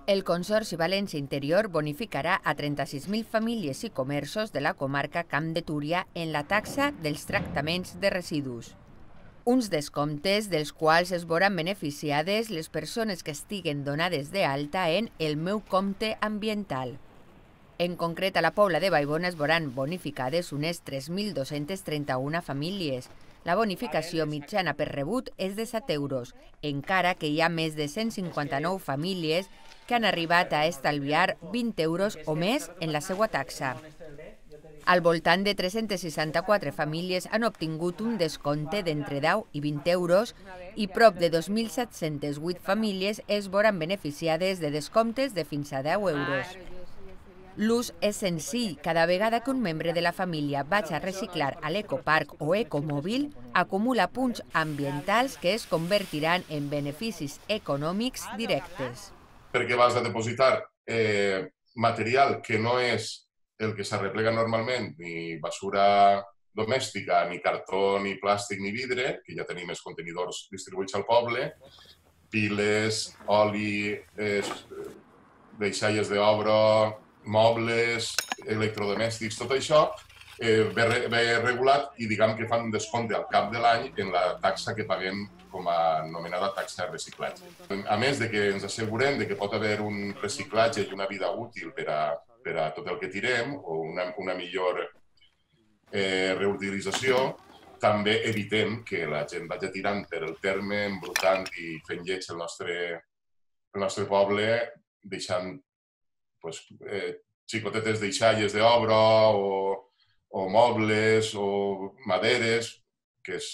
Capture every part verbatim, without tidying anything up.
El Consorci València Interior bonificarà a trenta-sis mil famílies i comerços de la comarca Camp de Túria en la taxa dels tractaments de residus. Uns descomptes dels quals es veuran beneficiades les persones que estiguen donades d'alta en El meu compte ambiental. En concret, a la Pobla de Vallbona es veuran bonificades unes tres mil dos-centes trenta-una famílies. La bonificació mitjana per rebut és de set euros, encara que hi ha més de cent cinquanta-nou famílies que han arribat a estalviar vint euros o més en la seva taxa. Al voltant de tres-centes seixanta-quatre famílies han obtingut un descompte d'entre deu i vint euros i prop de dos mil set-centes vuit famílies es veuran beneficiades de descomptes de fins a deu euros. L'ús és senzill. Cada vegada que un membre de la família vagi a reciclar a l'ecoparc o ecomòbil, acumula punts ambientals que es convertiran en beneficis econòmics directes. Perquè vas a depositar eh, material que no és el que s'arreplega normalment, ni basura domèstica, ni cartó, ni plàstic, ni vidre, que ja tenim els contenidors distribuïts al poble, piles, oli, eh, deixalles d'obra, mobles, electrodomèstics, tot això eh, ve, ve regulat i diguem que fan un descompte al cap de l'any en la taxa que paguem com a anomenada taxa de reciclatge. A més de que ens assegurem de que pot haver un reciclatge i una vida útil per a, per a tot el que tirem o una, una millor eh, reutilització, també evitem que la gent vagi tirant per el terme, embrutant i fent lleig el nostre, el nostre poble, deixant pues, eh, xicotetes deixalles d'obra o, o mobles o maderes, que és,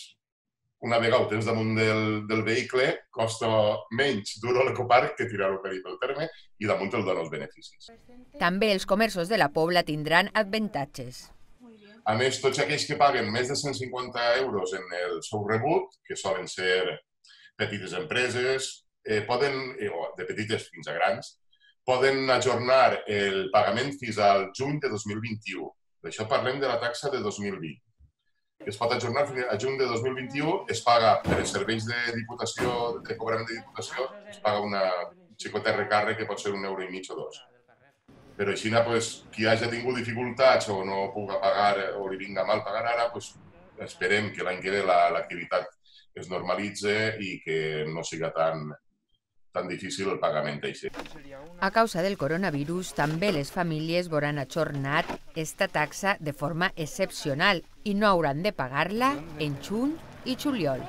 una vegada ho tens damunt del, del vehicle, costa menys dur-ho a l'ecoparc que tirar-ho per pel terme i damunt el dona els beneficis. També els comerços de la Pobla tindran avantatges. A més, tots aquells que paguen més de cent cinquanta euros en el seu rebut, que solen ser petites empreses, eh, poden, eh, de petites fins a grans, poden ajornar el pagament fins al juny de dos mil vint-i-u. D'això parlem de la taxa de dos mil vint. Es pot ajornar fins a juny de dos mil vint-i-u, es paga per els serveis de diputació, de cobrament de diputació, es paga una xicota recàrrec que pot ser un euro i mig o dos. Però així, pues, qui hagi tingut dificultats o no pugui pagar o li vinga mal pagar ara, pues, esperem que l'any que ve l'activitat es normalitzi i que no siga tan tan difícil el pagament d'això. A causa del coronavirus, també les famílies veuran ajornat esta taxa de forma excepcional i no hauran de pagar-la en juny i juliol.